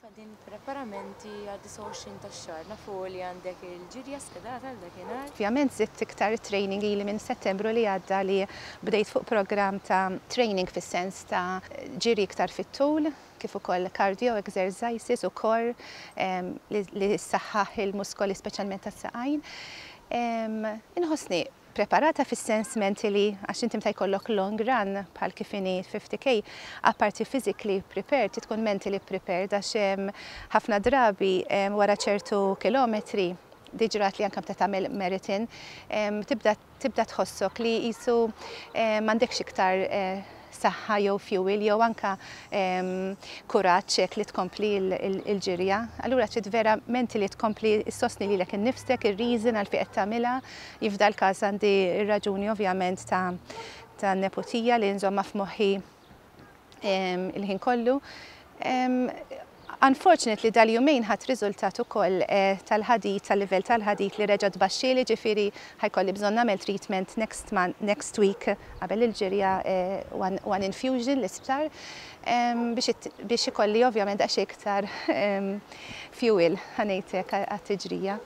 qegħdin preparamenti għad-29 tax-xahar? Nafu li għandek il-ġirja skedata għal dakinhar. Ovvjament żidt iktar training ili minn Settembru li għadda li bdejt fuq programm ta' training fis-sens ta' ġiri iktar fit-tul, kif ukoll cardio exercises u core li ssaħħaħ il-muskoli, speċjalment tas-saqajn. Inħossni preparata fis-sens mentally, għax inti meta jkollok long run bħal kif inhi 50K, apparti physically prepared, tkun mentally prepared, għax ħafna drabi wara ċertu kilometri, diġrat li anke meta tagħmel marathon, tibda tħossok li qisu m'għandekx iktar saħħa jew fuel jew anka kuraġġ hekk li tkompli il-ġirja. Allura trid vera mentally tkompli ssostni lilek innifsek, ir-reason għal fejn qed tagħmilha. F'dal każ għandi ir-raġuni ovvjament ta' neputija li nżomma f'moħħi il-ħin kollu. Unfortunately dal-jumejn ħadt riżultat ukoll tal-ħadid, tal-livell tal-ħadid li reġa' tbaxxieli, ġifieri ħa jkolli bżonn nagħmel treatment next month, next week qabel il-ġirja, one infusion l-isptar, biex ikolli ovvjament għax iktar fuel, ħa ngħidlek, għat-tiġrija.